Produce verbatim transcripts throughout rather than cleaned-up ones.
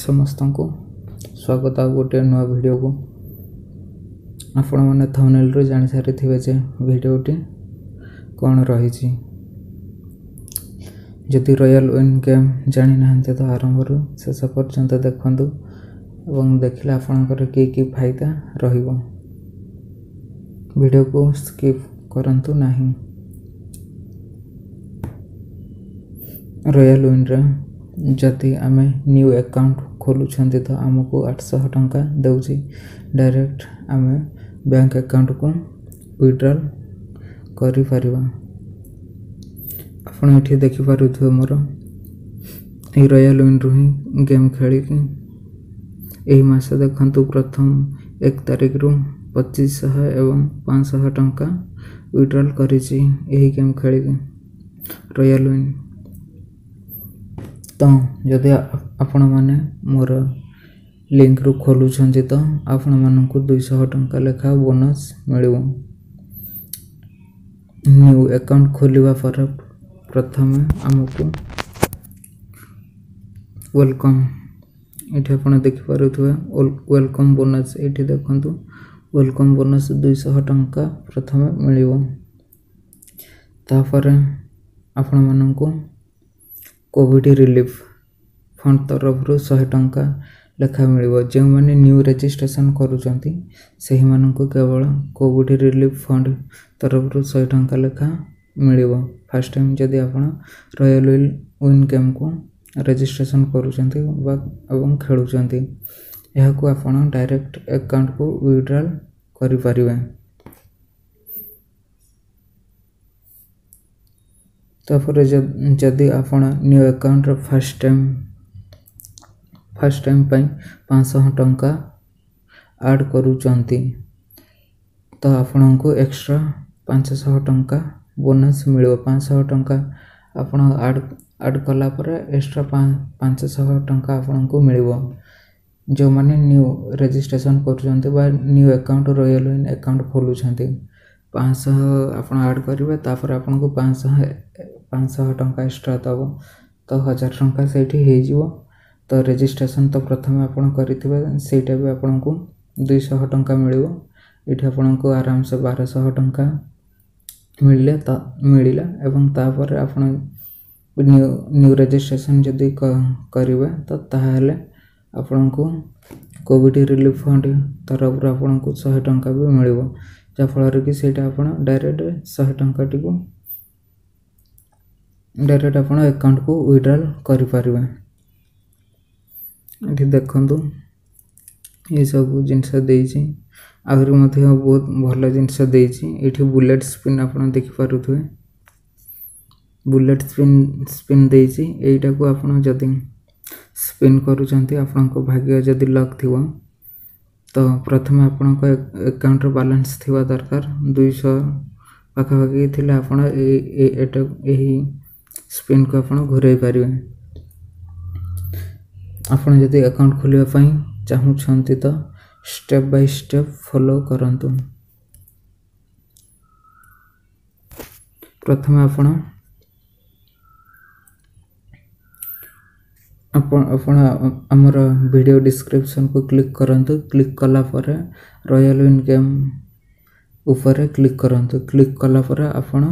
ସମସ୍ତଙ୍କୁ ସ୍ୱାଗତ ଆଉ ଗୋଟିଏ ନୂଆ ଭିଡ଼ିଓକୁ। ଆପଣମାନେ ଥମ୍ବନେଲ୍ରୁ ଜାଣିସାରିଥିବେ ଯେ ଭିଡ଼ିଓଟି କ'ଣ ରହିଛି। ଯଦି ରୟାଲ୍ ୱିନ୍ ଗେମ୍ ଜାଣିନାହାନ୍ତି ତ ଆରମ୍ଭରୁ ଶେଷ ପର୍ଯ୍ୟନ୍ତ ଦେଖନ୍ତୁ ଏବଂ ଦେଖିଲେ ଆପଣଙ୍କର କି କି ଫାଇଦା ରହିବ। ଭିଡ଼ିଓକୁ ସ୍କିପ୍ କରନ୍ତୁ ନାହିଁ। ରୟାଲ୍ ୱିନ୍ରେ ଯଦି ଆମେ ନ୍ୟୁ ଆକାଉଣ୍ଟ ଖୋଲୁଛନ୍ତି ତ ଆମକୁ ଆଠଶହ ଟଙ୍କା ଦେଉଛି। ଡାଇରେକ୍ଟ ଆମେ ବ୍ୟାଙ୍କ ଆକାଉଣ୍ଟକୁ ୱିଡ୍ରଲ୍ କରିପାରିବା। ଆପଣ ଏଠି ଦେଖିପାରୁଥିବେ, ମୋର ଏଇ ରୟାଲ୍ ୱିନ୍ରୁ ହିଁ ଗେମ୍ ଖେଳିକି ଏହି ମାସ ଦେଖନ୍ତୁ, ପ୍ରଥମ ଏକ ତାରିଖରୁ ପଚିଶଶହ ଏବଂ ପାଞ୍ଚଶହ ଟଙ୍କା ୱିଡ୍ରଲ୍ କରିଛି ଏହି ଗେମ୍ ଖେଳିକି ରୟାଲ୍ ୱିନ୍। ତ ଯଦି ଆପଣମାନେ ମୋର ଲିଙ୍କରୁ ଖୋଲୁଛନ୍ତି ତ ଆପଣମାନଙ୍କୁ ଦୁଇଶହ ଟଙ୍କା ଲେଖା ବୋନସ୍ ମିଳିବ। ନ୍ୟୁ ଆକାଉଣ୍ଟ ଖୋଲିବା ପରେ ପ୍ରଥମେ ଆମକୁ welcome, ଏଠି ଆପଣ ଦେଖିପାରୁଥିବେ welcome bonus. ଏଇଠି ଦେଖନ୍ତୁ, welcome bonus ଦୁଇଶହ ଟଙ୍କା ପ୍ରଥମେ ମିଳିବ। ତାପରେ ଆପଣମାନଙ୍କୁ କୋଭିଡ଼ ରିଲିଫ୍ ଫଣ୍ଡ ତରଫରୁ ଶହେ ଟଙ୍କା ଲେଖା ମିଳିବ। ଯେଉଁମାନେ ନ୍ୟୁ ରେଜିଷ୍ଟ୍ରେସନ୍ କରୁଛନ୍ତି ସେହିମାନଙ୍କୁ କେବଳ କୋଭିଡ଼ ରିଲିଫ୍ ଫଣ୍ଡ ତରଫରୁ ଶହେ ଟଙ୍କା ଲେଖା ମିଳିବ। ଫାର୍ଷ୍ଟ ଟାଇମ୍ ଯଦି ଆପଣ ରୟାଲ୍ ୱିନ୍ ଗେମ୍କୁ ରେଜିଷ୍ଟ୍ରେସନ୍ କରୁଛନ୍ତି ବା ଏବଂ ଖେଳୁଛନ୍ତି, ଏହାକୁ ଆପଣ ଡାଇରେକ୍ଟ ଆକାଉଣ୍ଟକୁ ୱିଡ୍ରଲ୍ କରିପାରିବେ। ତାପରେ ଯଦି ଆପଣ ନ୍ୟୁ ଆକାଉଣ୍ଟର ଫାର୍ଷ୍ଟ ଟାଇମ୍ ଫାର୍ଷ୍ଟ ଟାଇମ୍ ପାଇଁ ପାଞ୍ଚଶହ ଟଙ୍କା ଆଡ଼୍ କରୁଛନ୍ତି ତ ଆପଣଙ୍କୁ ଏକ୍ସଟ୍ରା ପାଞ୍ଚଶହ ଟଙ୍କା ବୋନସ୍ ମିଳିବ। ପାଞ୍ଚଶହ ଟଙ୍କା ଆପଣ ଆଡ଼୍ ଆଡ଼୍ କଲା ପରେ ଏକ୍ସଟ୍ରା ପାଞ୍ଚଶହ ଟଙ୍କା ଆପଣଙ୍କୁ ମିଳିବ। ଯେଉଁମାନେ ନ୍ୟୁ ରେଜିଷ୍ଟ୍ରେସନ୍ କରୁଛନ୍ତି ବା new account, royal win account ଖୋଲୁଛନ୍ତି, ପାଞ୍ଚଶହ ଆପଣ ଆଡ଼୍ କରିବେ, ତାପରେ ଆପଣଙ୍କୁ ପାଞ୍ଚଶହ ପାଞ୍ଚଶହ ଟଙ୍କା ଏକ୍ସଟ୍ରା ଦେବ, ତ ହଜାର ଟଙ୍କା ସେଇଠି ହେଇଯିବ। ତ ରେଜିଷ୍ଟ୍ରେସନ୍ ତ ପ୍ରଥମେ ଆପଣ କରିଥିବେ, ସେଇଟା ବି ଆପଣଙ୍କୁ ଦୁଇଶହ ଟଙ୍କା ମିଳିବ। ଏଇଠି ଆପଣଙ୍କୁ ଆରାମସେ ବାରଶହ ଟଙ୍କା ମିଳିଲେ ତ ମିଳିଲା। ଏବଂ ତାପରେ ଆପଣ ନ୍ୟୁ ନ୍ୟୁ ରେଜିଷ୍ଟ୍ରେସନ୍ ଯଦି କରିବେ ତ ତାହେଲେ ଆପଣଙ୍କୁ କୋଭିଡ଼ ରିଲିଫ୍ ଫଣ୍ଡ ତରଫରୁ ଆପଣଙ୍କୁ ଶହେ ଟଙ୍କା ବି ମିଳିବ, ଯାହାଫଳରେ କି ସେଇଟା ଆପଣ ଡାଇରେକ୍ଟ ଶହେ ଟଙ୍କାଟିକୁ ଡାଇରେକ୍ଟ ଆପଣ ଆକାଉଣ୍ଟକୁ ୱିଡ୍ରଲ୍ କରିପାରିବେ। ଏଠି ଦେଖନ୍ତୁ, ଏସବୁ ଜିନିଷ ଦେଇଛି, ଆହୁରି ମଧ୍ୟ ବହୁତ ଭଲ ଜିନିଷ ଦେଇଛି। ଏଇଠି ବୁଲେଟ୍ ସ୍ପିନ୍ ଆପଣ ଦେଖିପାରୁଥିବେ, ବୁଲେଟ୍ ସ୍ପିନ୍ ସ୍ପିନ୍ ଦେଇଛି। ଏଇଟାକୁ ଆପଣ ଯଦି ସ୍ପିନ୍ କରୁଛନ୍ତି, ଆପଣଙ୍କ ଭାଗ୍ୟ ଯଦି ଲକ୍ ଥିବ ତ ପ୍ରଥମେ ଆପଣଙ୍କ ଆକାଉଣ୍ଟର ବାଲାନ୍ସ ଥିବା ଦରକାର। ଦୁଇଶହ ପାଖାପାଖି ଥିଲେ ଆପଣ ଏଇଟା ଏହି ସ୍ପିନ୍କୁ ଆପଣ ଘୁରାଇ ପାରିବେ। ଆପଣ ଯଦି ଆକାଉଣ୍ଟ ଖୋଲିବା ପାଇଁ ଚାହୁଁଛନ୍ତି ତ ଷ୍ଟେପ୍ ବାଇ ଷ୍ଟେପ୍ ଫଲୋ କରନ୍ତୁ। ପ୍ରଥମେ ଆପଣ ଆପଣ ଆପଣ ଆମର ଭିଡ଼ିଓ ଡିସ୍କ୍ରିପସନ୍କୁ କ୍ଲିକ୍ କରନ୍ତୁ। କ୍ଲିକ୍ କଲା ପରେ ରୟାଲ୍ ୱିନ୍ ଗେମ୍ ଉପରେ କ୍ଲିକ୍ କରନ୍ତୁ। କ୍ଲିକ୍ କଲା ପରେ ଆପଣ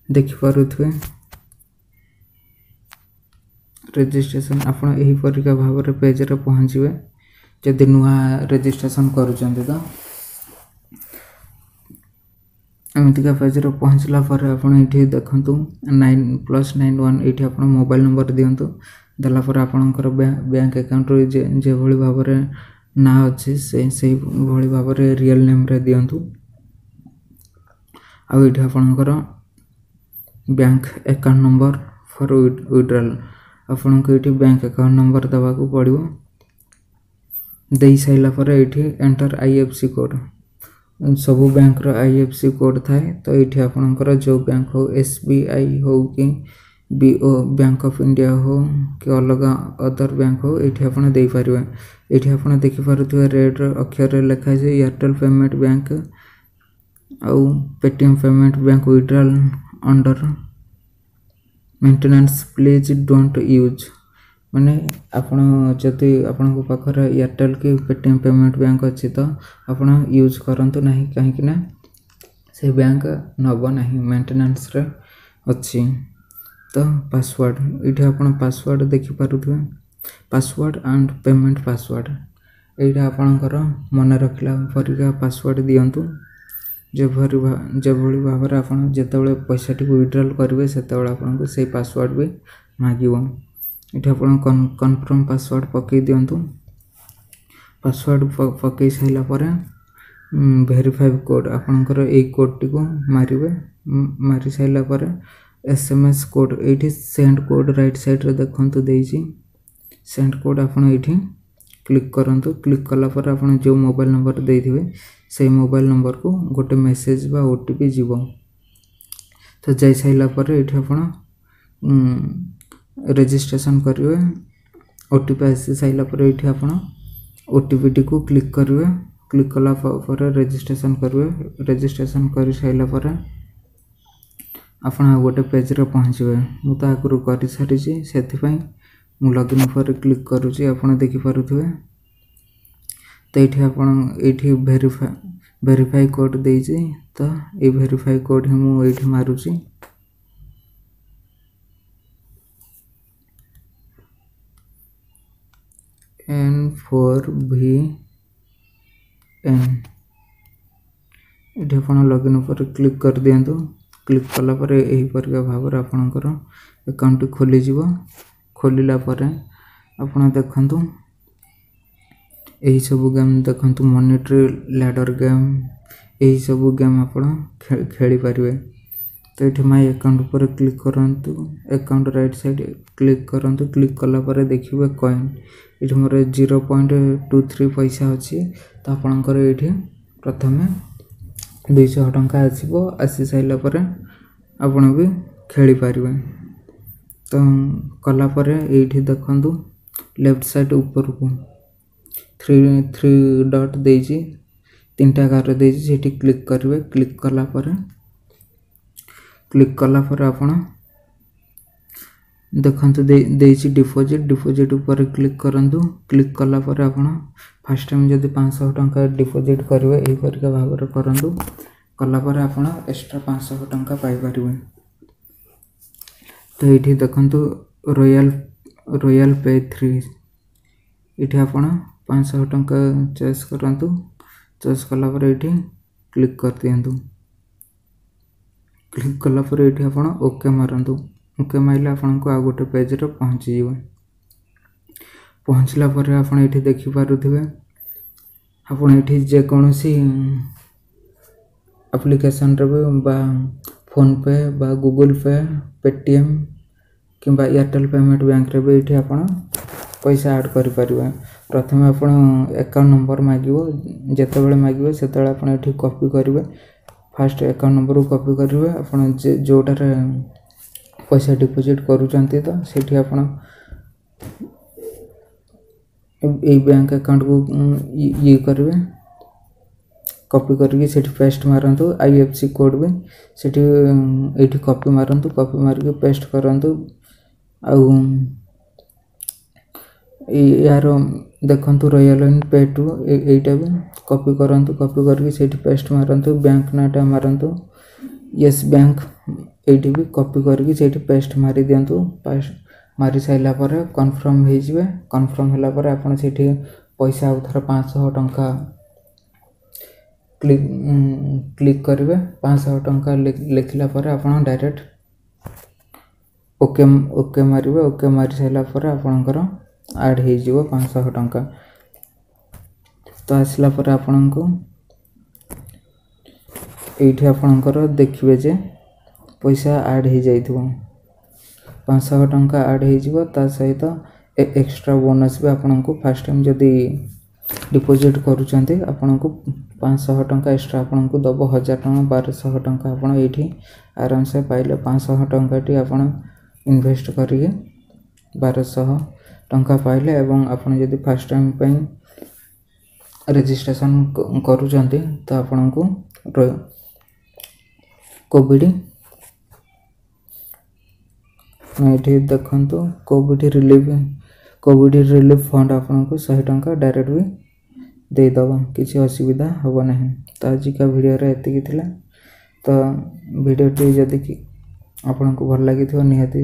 ଦେଖିପାରୁଥିବେ ରେଜିଷ୍ଟ୍ରେସନ୍, ଆପଣ ଏହିପରିକା ଭାବରେ ପେଜ୍ରେ ପହଞ୍ଚିବେ। ଯଦି ନୂଆ ରେଜିଷ୍ଟ୍ରେସନ୍ କରୁଛନ୍ତି ତ ଏମିତିକା ପେଜ୍ରେ ପହଞ୍ଚିଲା ପରେ ଆପଣ ଏଇଠି ଦେଖନ୍ତୁ ନାଇନ୍ ପ୍ଲସ୍ ନାଇନ୍ ୱାନ୍, ଏଇଠି ଆପଣ ମୋବାଇଲ୍ ନମ୍ବର ଦିଅନ୍ତୁ। ଦେଲା ପରେ ଆପଣଙ୍କର ବ୍ୟାଙ୍କ ଆକାଉଣ୍ଟରୁ ଯେଭଳି ଭାବରେ ନାଁ ଅଛି ସେ ସେଇଭଳି ଭାବରେ ରିଏଲ୍ ନେମ୍ରେ ଦିଅନ୍ତୁ। ଆଉ ଏଇଠି ଆପଣଙ୍କର bank account number for withdrawal, ଆପଣଙ୍କୁ ଏଇଠି ବ୍ୟାଙ୍କ ଆକାଉଣ୍ଟ ନମ୍ବର ଦେବାକୁ ପଡ଼ିବ। ଦେଇ ସାରିଲା ପରେ ଏଇଠି enter I F C code. ସବୁ ବ୍ୟାଙ୍କର I F C code ଥାଏ, ତ ଏଇଠି ଆପଣଙ୍କର ଯେଉଁ ବ୍ୟାଙ୍କ ହଉ, ଏସ୍ ବି I ହଉ କି ବି ଓ ବ୍ୟାଙ୍କ ଅଫ୍ ଇଣ୍ଡିଆ ହଉ କି ଅଲଗା ଅଦର ବ୍ୟାଙ୍କ ହଉ, ଏଇଠି ଆପଣ ଦେଇପାରିବେ। ଏଇଠି ଆପଣ ଦେଖିପାରୁଥିବେ ରେଡ଼୍ର ଅକ୍ଷରରେ ଲେଖା ହେଇଛି ଏୟାରଟେଲ୍ ପେମେଣ୍ଟ ବ୍ୟାଙ୍କ ଆଉ Paytm payment bank withdrawal under maintenance, please don't use. ମାନେ ଆପଣ ଯଦି ଆପଣଙ୍କ ପାଖରେ ଏୟାରଟେଲ୍ କି ପେଟିଏମ୍ ପେମେଣ୍ଟ ବ୍ୟାଙ୍କ ଅଛି ତ ଆପଣ ୟୁଜ୍ କରନ୍ତୁ ନାହିଁ, କାହିଁକିନା ସେ ବ୍ୟାଙ୍କ ନେବ ନାହିଁ, ମେଣ୍ଟେନାନ୍ସରେ ଅଛି। ତ ପାସୱାର୍ଡ଼, ଏଇଠି ଆପଣ ପାସୱାର୍ଡ଼ ଦେଖିପାରୁଥିବେ, ପାସୱାର୍ଡ଼ ଆଣ୍ଡ ପେମେଣ୍ଟ ପାସୱାର୍ଡ଼। ଏଇଟା ଆପଣଙ୍କର ମନେ ରଖିଲା ପରିକା ପାସୱାର୍ଡ଼ ଦିଅନ୍ତୁ, ଯେଭଳି ଯେଭଳି ଭାବରେ ଆପଣ ଯେତେବେଳେ ପଇସାଟିକୁ ୱିଡ୍ରଲ୍ କରିବେ ସେତେବେଳେ ଆପଣଙ୍କୁ ସେଇ ପାସୱାର୍ଡ଼ ବି ମାଗିବ। ଏଠି ଆପଣ କନଫର୍ମ ପାସୱାର୍ଡ଼ ପକାଇ ଦିଅନ୍ତୁ। ପାସୱାର୍ଡ଼ ପକାଇ ସାରିଲା ପରେ ଭେରିଫାଏ କୋଡ଼୍, ଆପଣଙ୍କର ଏଇ କୋଡ଼୍ଟିକୁ ମାରିବେ। ମାରି ସାରିଲା ପରେ ଏସ୍ ଏମ୍ ଏସ୍ କୋଡ଼୍, ଏଇଠି ସେଣ୍ଡ କୋଡ଼୍ ରାଇଟ୍ ସାଇଡ଼୍ରେ ଦେଖନ୍ତୁ ଦେଇଛି ସେଣ୍ଡ କୋଡ଼୍, ଆପଣ ଏଇଠି କ୍ଲିକ୍ କରନ୍ତୁ। କ୍ଲିକ୍ କଲା ପରେ ଆପଣ ଯେଉଁ ମୋବାଇଲ୍ ନମ୍ବର ଦେଇଥିବେ ସେଇ ମୋବାଇଲ୍ ନମ୍ବରକୁ ଗୋଟେ ମେସେଜ୍ ବା ଓ ଟି ପି ଯିବ। ତ ଯାଇସାରିଲା ପରେ ଏଇଠି ଆପଣ ରେଜିଷ୍ଟ୍ରେସନ୍ କରିବେ। ଓ ଟି ପି ଆସି ସାରିଲା ପରେ ଏଇଠି ଆପଣ ଓ ଟି ପିଟିକୁ କ୍ଲିକ୍ କରିବେ। କ୍ଲିକ୍ କଲା ପରେ ରେଜିଷ୍ଟ୍ରେସନ୍ କରିବେ। ରେଜିଷ୍ଟ୍ରେସନ୍ କରିସାରିଲା ପରେ ଆପଣ ଆଉ ଗୋଟେ ପେଜ୍ରେ ପହଞ୍ଚିବେ। ମୁଁ ତ ଆଗରୁ କରିସାରିଛି, ସେଥିପାଇଁ ମୁଁ ଲଗ୍ଇନ୍ ଉପରେ କ୍ଲିକ୍ କରୁଛି, ଆପଣ ଦେଖିପାରୁଥିବେ। ତ ଏଇଠି ଆପଣ ଏଇଠି ଭେରିଫାଏ ଭେରିଫାଇ କୋଡ଼୍ ଦେଇଛି, ତ ଏଇ ଭେରିଫାଇ କୋଡ଼୍ ହିଁ ମୁଁ ଏଇଠି ମାରୁଛି। ଏନ୍ ଫୋର୍ ଭି ଏନ୍, ଏଠି ଆପଣ ଲଗ୍ଇନ୍ ଉପରେ କ୍ଲିକ୍ କରିଦିଅନ୍ତୁ। କ୍ଲିକ୍ କଲା ପରେ ଏହିପରିକା ଭାବରେ ଆପଣଙ୍କର ଆକାଉଣ୍ଟଟି ଖୋଲିଯିବ। ଖୋଲିଲା ପରେ ଆପଣ ଦେଖନ୍ତୁ ଏହିସବୁ ଗେମ୍ ଦେଖନ୍ତୁ, ମନିଟ୍ରି ଲ୍ୟାଡର୍ ଗେମ୍, ଏହିସବୁ ଗେମ୍ ଆପଣ ଖେଳିପାରିବେ। ତ ଏଠି ମାଇ ଆକାଉଣ୍ଟ ଉପରେ କ୍ଲିକ୍ କରନ୍ତୁ, ଆକାଉଣ୍ଟ ରାଇଟ୍ ସାଇଡ଼୍ କ୍ଲିକ୍ କରନ୍ତୁ। କ୍ଲିକ୍ କଲା ପରେ ଦେଖିବେ କଏନ୍, ଏଠି ମୋର ଜିରୋ ପଏଣ୍ଟ ଟୁ ଥ୍ରୀ ପଇସା ଅଛି। ତ ଆପଣଙ୍କର ଏଇଠି ପ୍ରଥମେ ଦୁଇଶହ ଟଙ୍କା ଆସିବ। ଆସି ସାରିଲା ପରେ ଆପଣ ବି ଖେଳିପାରିବେ। ତ କଲା ପରେ ଏଇଠି ଦେଖନ୍ତୁ ଲେଫ୍ଟ ସାଇଡ଼୍ ଉପରକୁ ଥ୍ରୀ ଥ୍ରୀ ଡଟ୍ ଦେଇଛି, ତିନିଟା ଗାର ଦେଇଛି, ସେଠି କ୍ଲିକ୍ କରିବେ। କ୍ଲିକ୍ କଲା ପରେ କ୍ଲିକ୍ କଲା ପରେ ଆପଣ ଦେଖନ୍ତୁ ଦେଇଛି ଡିପୋଜିଟ୍, ଡିପୋଜିଟ୍ ଉପରେ କ୍ଲିକ୍ କରନ୍ତୁ। କ୍ଲିକ୍ କଲା ପରେ ଆପଣ ଫାର୍ଷ୍ଟ ଟାଇମ୍ ଯଦି ପାଞ୍ଚଶହ ଟଙ୍କା ଡିପୋଜିଟ୍ କରିବେ ଏହିପରିକା ଭାବରେ କରନ୍ତୁ। କଲା ପରେ ଆପଣ ଏକ୍ସଟ୍ରା ପାଞ୍ଚଶହ ଟଙ୍କା ପାଇପାରିବେ। ତ ଏଇଠି ଦେଖନ୍ତୁ ରୟାଲ୍ ରୟାଲ୍ ପେ ଥ୍ରୀ, ଏଇଠି ଆପଣ ପାଞ୍ଚଶହ ଟଙ୍କା ଚଏସ୍ କରନ୍ତୁ। ଚଏସ୍ କଲା ପରେ ଏଇଠି କ୍ଲିକ୍ କରିଦିଅନ୍ତୁ। କ୍ଲିକ୍ କଲା ପରେ ଏଇଠି ଆପଣ ଓକେ ମାରନ୍ତୁ। ଓକେ ମାରିଲେ ଆପଣଙ୍କୁ ଆଉ ଗୋଟେ ପେଜ୍ରେ ପହଞ୍ଚିଯିବ। ପହଞ୍ଚିଲା ପରେ ଆପଣ ଏଇଠି ଦେଖିପାରୁଥିବେ, ଆପଣ ଏଇଠି ଯେକୌଣସି ଆପ୍ଲିକେସନ୍ରେ ବି ବା ଫୋନ୍ପେ ବା ଗୁଗୁଲ୍ ପେ, ପେଟିଏମ୍ କିମ୍ବା ଏୟାରଟେଲ୍ ପେମେଣ୍ଟ ବ୍ୟାଙ୍କରେ ବି ଏଇଠି ଆପଣ ପଇସା ଆଡ଼୍ କରିପାରିବେ। ପ୍ରଥମେ ଆପଣ ଆକାଉଣ୍ଟ ନମ୍ବର ମାଗିବ, ଯେତେବେଳେ ମାଗିବ ସେତେବେଳେ ଆପଣ ଏଠି କପି କରିବେ। ଫାଷ୍ଟ ଆକାଉଣ୍ଟ ନମ୍ବରକୁ କପି କରିବେ, ଆପଣ ଯେଉଁଟାରେ ପଇସା ଡିପୋଜିଟ୍ କରୁଛନ୍ତି ତ ସେଠି ଆପଣ ଏଇ ବ୍ୟାଙ୍କ ଆକାଉଣ୍ଟକୁ ଇଏ କରିବେ, କପି କରିକି ସେଠି ପେଷ୍ଟ ମାରନ୍ତୁ। I F C code ବି ସେଠି ଏଇଠି କପି ମାରନ୍ତୁ, କପି ମାରିକି ପେଷ୍ଟ କରନ୍ତୁ। ଆଉ ଏହାର ଦେଖନ୍ତୁ ରୟାଲ୍ ଇନ୍ ପେ ଟୁ, ଏଇଟା ବି କପି କରନ୍ତୁ, କପି କରିକି ସେଇଠି ପେଷ୍ଟ ମାରନ୍ତୁ। ବ୍ୟାଙ୍କ ନାଁଟା ମାରନ୍ତୁ ୟେସ୍ ବ୍ୟାଙ୍କ, ଏଇଠି ବି କପି କରିକି ସେଇଠି ପେଷ୍ଟ ମାରି ଦିଅନ୍ତୁ। ପେଷ୍ଟ ମାରି ସାରିଲା ପରେ କନଫର୍ମ ହେଇଯିବେ। କନଫର୍ମ ହେଲା ପରେ ଆପଣ ସେଇଠି ପଇସା ଆଉ ଥରେ ପାଞ୍ଚଶହ ଟଙ୍କା କ୍ଲିକ୍ କ୍ଲିକ୍ କରିବେ। ପାଞ୍ଚଶହ ଟଙ୍କା ଲେଖିଲା ପରେ ଆପଣ ଡାଇରେକ୍ଟ ଓକେ ଓକେ ମାରିବେ। ଓକେ ମାରି ସାରିଲା ପରେ ଆପଣଙ୍କର ଆଡ଼୍ ହେଇଯିବ ପାଞ୍ଚଶହ ଟଙ୍କା। ତ ଆସିଲା ପରେ ଆପଣଙ୍କୁ ଏଇଠି ଆପଣଙ୍କର ଦେଖିବେ ଯେ ପଇସା ଆଡ଼୍ ହେଇଯାଇଥିବ, ପାଞ୍ଚଶହ ଟଙ୍କା ଆଡ଼୍ ହେଇଯିବ। ତା ସହିତ ଏକ୍ସଟ୍ରା ବୋନସ୍ ବି ଆପଣଙ୍କୁ ଫାର୍ଷ୍ଟ ଟାଇମ୍ ଯଦି ଡିପୋଜିଟ୍ କରୁଛନ୍ତି ଆପଣଙ୍କୁ ପାଞ୍ଚଶହ ଟଙ୍କା ଏକ୍ସଟ୍ରା ଆପଣଙ୍କୁ ଦେବ, ହଜାର ଟଙ୍କା ବାରଶହ ଟଙ୍କା ଆପଣ ଏଇଠି ଆରାମସେ ପାଇଲେ। ପାଞ୍ଚଶହ ଟଙ୍କାଟି ଆପଣ ଇନଭେଷ୍ଟ କରିକି ବାରଶହ ଟଙ୍କା ପାଇଲେ। ଏବଂ ଆପଣ ଯଦି ଫାର୍ଷ୍ଟ ଟାଇମ୍ ପାଇଁ ରେଜିଷ୍ଟ୍ରେସନ୍ କରୁଛନ୍ତି ତ ଆପଣଙ୍କୁ କୋଭିଡ଼ ଏଇଠି ଦେଖନ୍ତୁ Covid relief Covid relief fund ଆପଣଙ୍କୁ ଶହେ ଟଙ୍କା ଡାଇରେକ୍ଟ ବି ଦେଇଦେବ, କିଛି ଅସୁବିଧା ହେବ ନାହିଁ। ତ ଆଜିକା ଭିଡ଼ିଓରେ ଏତିକି ଥିଲା। ତ ଭିଡ଼ିଓଟି ଯଦି କି ଆପଣଙ୍କୁ ଭଲ ଲାଗିଥିବ, ନିହାତି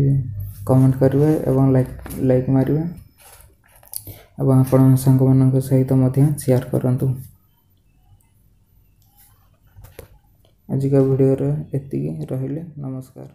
କମେଣ୍ଟ କରିବେ ଏବଂ ଲାଇକ୍ ଲାଇକ୍ ମାରିବେ ଏବଂ ଆପଣ ସାଙ୍ଗମାନଙ୍କ ସହିତ ମଧ୍ୟ ସେୟାର କରନ୍ତୁ। ଆଜିକା ଭିଡ଼ିଓରେ ଏତିକି ରହିଲେ, ନମସ୍କାର।